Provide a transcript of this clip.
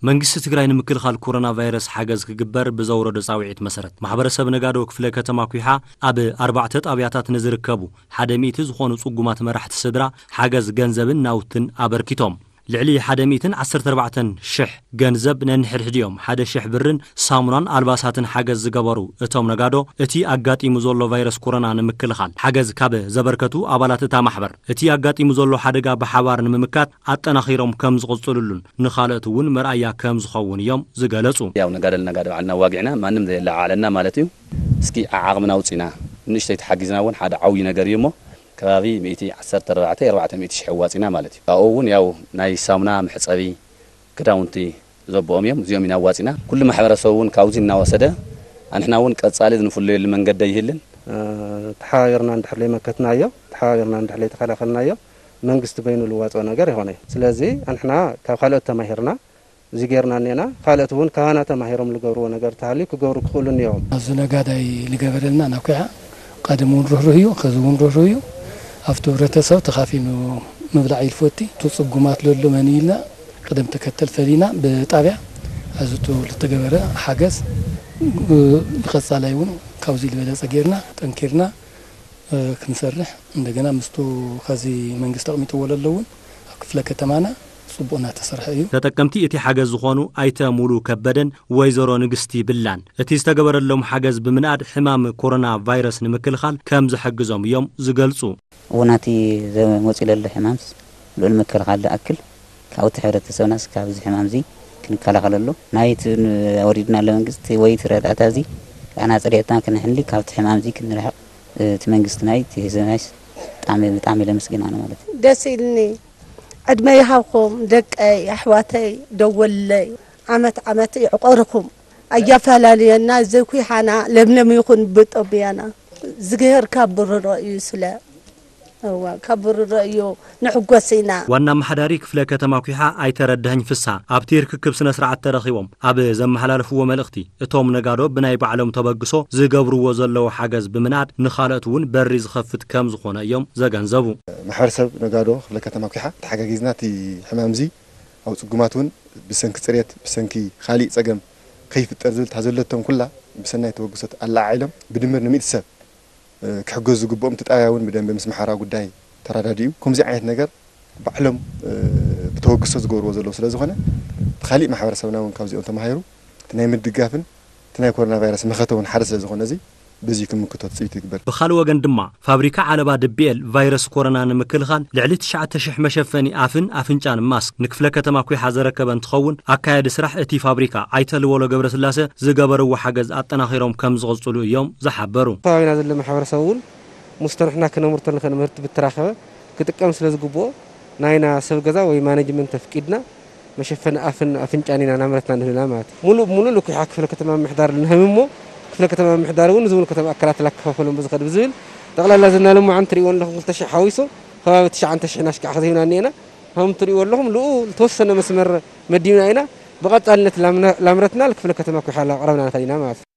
መንግስቲ ትግራይ ንምክልኻል ኮሮና ቫይረስ ሓገዝ ክግበር ብዘውረዶ ጻውዒት መሰረት፣ ማሕበረሰብ ነጋዶ ክፍለ ከተማ ኲሓ ኣብ ኣርባዕተ ጣብያታት ንዝርከቡ ሓደ ሚእቲ ዝኾኑ ጽጉማት መራሕቲ ስድራ ሓገዝ ገንዘብን ናውትን ኣበርኪቶም። ልዕሊ ሓደ ሚእትን ዓሰርተ ኣርባዕተን ሽሕ ገንዘብ ነንሕድሕዲኦም ሓደ ሽሕ ብርን ሳሙናን ኣልባሳትን ሓገዝ ዝገበሩ እቶም ነጋዶ፣ እቲ ኣጋጢሙ ዘሎ ቫይረስ ኮሮና ንምክልኻል ሓገዝ ካብ ዘበርከቱ ኣባላት እታ ማሕበር፣ እቲ ኣጋጢሙ ዘሎ ሓደጋ ብሓባር ንምምካት ኣጠናኺሮም ከም ዝቕጽልሉን ንኻልኦት እውን መርኣያ ከም ዝኸውን እዮም ዝገለጹ። ያው ነጋደል ነጋደ ባዕልና ዋጊዕና ማንም ዘየለዓዕለና ማለት እዩ። እስኪ ዓቕምና ኣውጺና ንእሽተይ ተሓጊዝና እውን ሓደ ዓብዪ ነገር እዩ እሞ ከባቢ ሚእቲ ዓሰርተ ኣርባዕተ ኣርባዕተ ሚእቲ ሽሕ ኣዋጺና ማለት እዩ። ካብኡ እውን ያው ናይ ሳሙና መሕጸቢ ክዳውንቲ ዘቦኦም እዮም። እዚኦም ኢና ኣዋጺና። ኩሉ ማሕበረሰብ እውን ካብዚ እናወሰደ ኣንሕና እውን ቀጻሊ ዝንፍለየሉ መንገዲ ኣይህልን። ተሓባቢርና እንድሕር ለይመከትናዮ፣ ተሓባቢርና እንድሕር ለይተኸላኸልናዮ መንግስቲ በይኑ ልዋፅኦ ነገር ይኾነ እዩ። ስለዚ ኣንሕና ካብ ካልኦት ተማሂርና እዚ ጌርና እኔና፣ ካልኦት እውን ካባና ተማሂሮም ልገብርዎ ነገር ተሃልዩ ክገብሩ ክኽእሉ እኒኦም። ኣብዚ ነጋዳይ ልገበረልና ናኩያ ቀደም እውን ርህሩህ እዩ፣ ከዚ እውን ርህሩህ እዩ። ኣብቲ ህብረተሰብ ተኻፊኑ ምብላዕ እዩ ልፈቲ። እቲ ጽጉማት ለሎ መን ኢልና ቅደም ተከተል ፈሊና ብጣብያ ኣዝቱ ልተገበረ ሓገዝ ብቀጻላይ እውን ካብዚ ዝበለጸ ጌርና ጠንኪርና ክንሰርሕ እንደገና ምስቱ ከዚ መንግስቲ ኣቕሚጥዎ ለሎ እውን ኣብ ክፍለ ከተማና ጽቡቕ እናተሰርሐ እዩ። ተጠቀምቲ እቲ ሓገዝ ዝኾኑ ኣይተ ሙሉ ከበደን ወይዘሮ ንግስቲ ብላን እቲ ዝተገበረሎም ሓገዝ ብምንኣድ ሕማም ኮሮና ቫይረስ ንምክልኻል ከም ዝሕግዞም እዮም ዝገልጹ። እውናት ዘመጽእ ለሎ ሕማምስ ልዑል ምክልኻል ዝኣክል ካብቲ ሕብረተሰብናስ ካብዚ ሕማም እዚ ክንከላኸለሉ ናይቲ ወሪድና ኣሎ መንግስቲ ወይ እቲ ረዳእታ እዚ ኣና ጸሪዕትና ክንሕሊ ካብቲ ሕማም እዚ ክንርሕቕ እቲ መንግስቲ ናይ እቲ ህዝብናይስ ብጣዕሚ ብጣዕሚ ለመስግና ነው ማለት እዩ። ደስ ኢልኒ። ዕድመ ይሃብኩም ደቀይ ኣሕዋተይ ደወለይ ዓመት ዓመት ይዕቆርኩም ኣያፈላለየና ዘይኩ ይሓና ለምለም ይኹን ብጦብያና ዝግሄር ካብ ብርሮ እዩ ስለ እዋ ካብ ብርሮ እዩ ንሕጎስ ኢና። ዋና ኣመሓዳሪ ክፍለ ከተማ ኲሓ ኣይተረድህኝ ፍሳ ኣብቲ ርክክብ ስነ ስርዓት ተረኺቦም ኣብ ዘመሓላለፍዎ መልእኽቲ እቶም ነጋዶ ብናይ ባዕሎም ተበግሶ ዝገብርዎ ዘለዉ ሓገዝ ብምንኣድ ንኻልኦት እውን በሪ ዝኸፍት ከም ዝኾነ እዮም ዘገንዘቡ። ማሕበረሰብ ነጋዶ ክፍለ ከተማ ኲሓ ተሓጋጊዝና እቲ ሕማም እዚ ኣብ ጽጉማት እውን ብሰንኪ ጽሬት ብሰንኪ ካሊእ ጸገም ከይፍጠር ዝብል እታ ዘለቶም ኩላ ብሰናይ ተበግሶት ኣለዓዒሎም ብድምር ንሚእቲ ሰብ ክሕገዙ ዝግብኦም እቲ ጣብያ እውን ብደንቢ ምስ ማሕበራዊ ጉዳይ ተራዳዲኡ ከምዚ ዓይነት ነገር ባዕሎም ብተበግሶ ዝገብርዎ ዘለዉ ስለ ዝኾነ እቲ ካሊእ ማሕበረሰብና እውን ካብዚኦም ተማሂሩ እቲ ናይ ምድጋፍን እቲ ናይ ኮሮና ቫይረስ መኸተ እውን ሓደ ስለ ዝኾነ እዚ በዚ ክምክቶ ትፅቢት ይግበር። ብኻልእ ወገን ድማ ፋብሪካ ዓለባ ድቢኤል ቫይረስ ኮሮና ንምክልኻል ልዕሊ ትሽዓተ ሽሕ መሸፈኒ ኣፍን ኣፍንጫን ማስክ ንክፍለ ከተማ ኲሓ ዘረከበ እንትኸውን ኣካያዲ ስራሕ እቲ ፋብሪካ ኣይተ ልወሎ ገብረስላሰ ዝገበርዎ ሓገዝ ኣጠናኺሮም ከም ዝቕፅሉ እዮም ዝሓበሩ። ከባቢና ዘሎ ማሕበረሰብ እውን ምስቶ ንሕና ክነምርቶ ንኽእል ምህርቲ ብተራኸበ ክጥቀም ስለ ዝግብኦ ናይና ሰብ ገዛ ወይ ማኔጅመንት ኣፍቂድና መሸፈኒ ኣፍን ኣፍንጫን ኢና ናምረትና ንህልና ማለት እዩ። ሙሉእ ብሙሉእ ልኩሓ ክፍለ ከተማ ምምሕዳር ንህብ እሞ ክፍለ ከተማ ምምሕዳር እውን ንዝብሉ ከተማ ኣካላት ላከፋፈሎም ብዝኸድ ብዝብል ጠቕላላ ዝናለምዖ እንትሪእዎ ኣለኹም ክልተ ሽሕ ሓዊሱ ከባቢ ትሽዓተ ሽሕ ናሽቃዕ ከዚብና እኒኤና። ከም ትሪእዎ ኣለኹም ልኡ ዝተወሰነ መስመር መዲብና ኢና። ብቐጻልነት ላምነ- ላምረትና ልክፍለ ከተማ ኩሓላ ኣቕረብና ንኸድ ኢና ማለት እዩ።